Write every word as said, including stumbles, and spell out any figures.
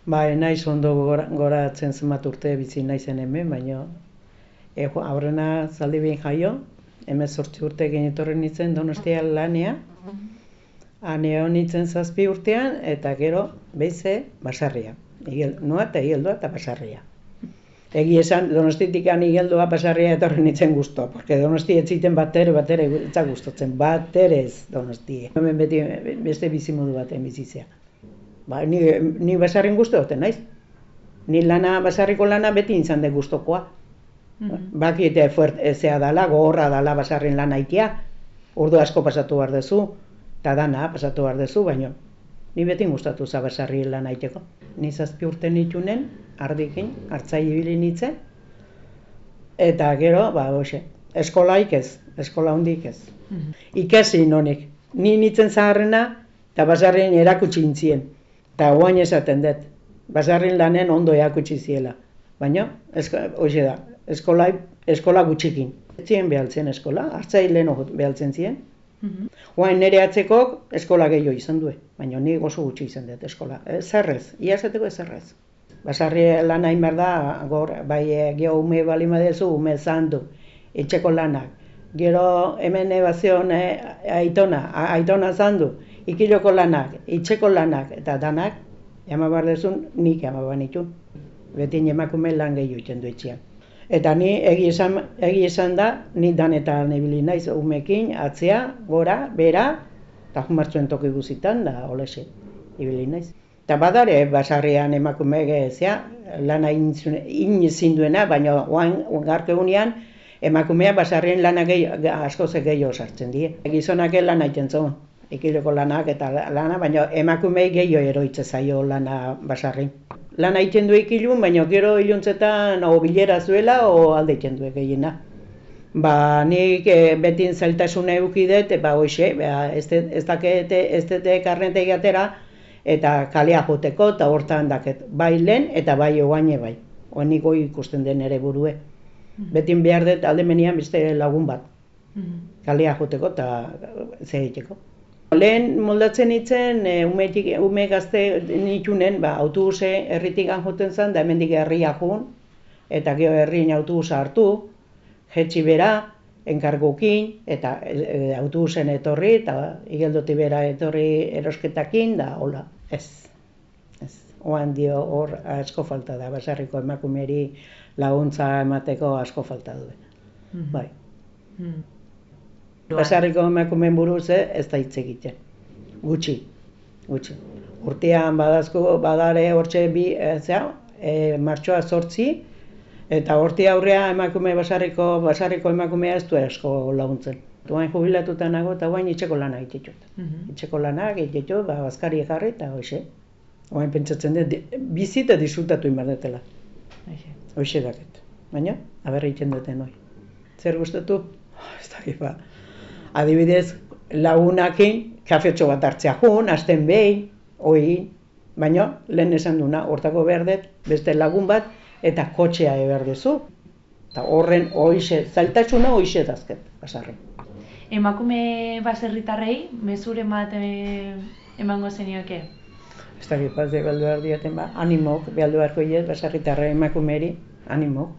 Bai, naiz ondo goratzen zenbat urte bizi naizen hemen, baina e, aurrena Zaldibin jaio, hemezortzi urteekin etorri nintzen Donostia lanea, han egon nintzen zazpi urtean, eta gero beize Basarria. Igel, noa eta Igeldoa eta Basarria. Egi esan, Donostitik Igeldoa Basarria etorri nintzen guztua, porque Donosti ez ziten batere, batere etzak gustatzen, batere ez Donosti. Hemen beti beste bizimodu baten bizizea. Ba, ni, ni Basarrin guztu duten, naiz? Ni lana, Basarriko lana beti izan de gustokoa. Mm-hmm. Bakite ezea dala, gogorra dala Basarrin lana itea, ordu asko pasatu behar dezu, eta dana pasatu behar dezu, baina ni beti gustatu za Basarri lana iteko. Ni zazpi urte nitunen, ardikin, hartzai ibili nintzen, eta gero, ba, hoxe, eskolaik ez, eskola hondik ez. Mm-hmm. Ikasi nonik, ni nintzen zaharrena, eta Basarrin erakutsi nintzien. Eta guain esaten dut, Basarrin lanen ondo eakutsi ziela. Baina, hoxe da, eskola, eskola gutxikin. Ez ziren behaltzen eskola, hartzai lehen behaltzen ziren. Mm-hmm. Guain nire atzekok eskola gehiago izan du, baina ni oso gutxi izan dut eskola. Zerrez, ia esateko zerrez. Basarri lan hain behar da, gor, bai geho ume bali madezu, ume zandu, etxeko lanak. Gero hemen ebazion aitona, aitona zandu. Ikiloko lanak, itxeko lanak eta danak, ema behar dezun, nik ema behar nitu. Beti emakume lan gehiago iten du etxean. Eta ni egi esan, egi esan da, ni danetan ibili naiz umekin, atzea, gora, bera, eta jumartzuen toki guzitan, da olese, ibili naiz. Eta badare, Basarrian emakume gezea, lana inizin duena, baina garke unean, emakumea Basarrien lana asko ze gehiago sartzen die. Gizonak lana iten zuen. Ikileko lanak eta lana, baina emakumei gehiago eroitze zaio lana Basarrin. Lana egiten du ikilun, baina gero iluntzetan o bilera zuela o alde egiten du gehiena. Ba, nik e, betin zailtasuna eukidet, ba, hoxe, ba, ez dakete, ez dute karnete gatera, eta kalea joteko, eta hortan daket, bai lehen eta bai ogaine bai. Oenik goi ikusten den ere burue. Mm-hmm. Betin behar dut alde menian beste lagun bat. Mm-hmm. Kalea joteko eta ze egiteko. Lehen moldatzen nintzen, ume, ume gazte nitunen, ba, autobuse herritik joten zen, da hemendik herria jun, eta gero herrien autobusa hartu, jetxi bera, enkargukin, eta e, autobusen etorri, eta Igeldoti bera etorri erosketakin, da hola, ez. ez. Oan dio hor asko falta da, Basarriko emakumeri laguntza emateko asko falta du. Mm-hmm. Bai. Mm. Basarriko emakumeen buruz ez da hitz egiten. Gutxi, gutxi. Urtean badazko badare hortxe bi, zera, e, martxoa zortzi, eta horti aurrea emakume Basarriko, Basarriko emakumea ez du asko laguntzen. Guain jubilatuta nago eta guain itxeko lana egitut. Mm-hmm. Itxeko lanak egitut, ba, bazkari jarri eta hoxe. Guain pentsatzen dut, bizi eta disfrutatu inbardetela. Hoxe daket. Baina, aber egiten duten hoi. Zer gustatu? Oh, ez dakit ba. Adibidez, lagunakin, kafetxo bat hartzea jun, hasten behin, hoi, baina lehen esan duna, hortako behar dut, beste lagun bat, eta kotxea behar duzu. Eta horren hoixe, zailtasuna hoixe dazket, Basarri. Emakume baserritarrei, mezuren bat emango zenioke? Ez dakit, bat behar dioten ba, animok, behar beharko iez, Basarritarrei emakumeri, animok.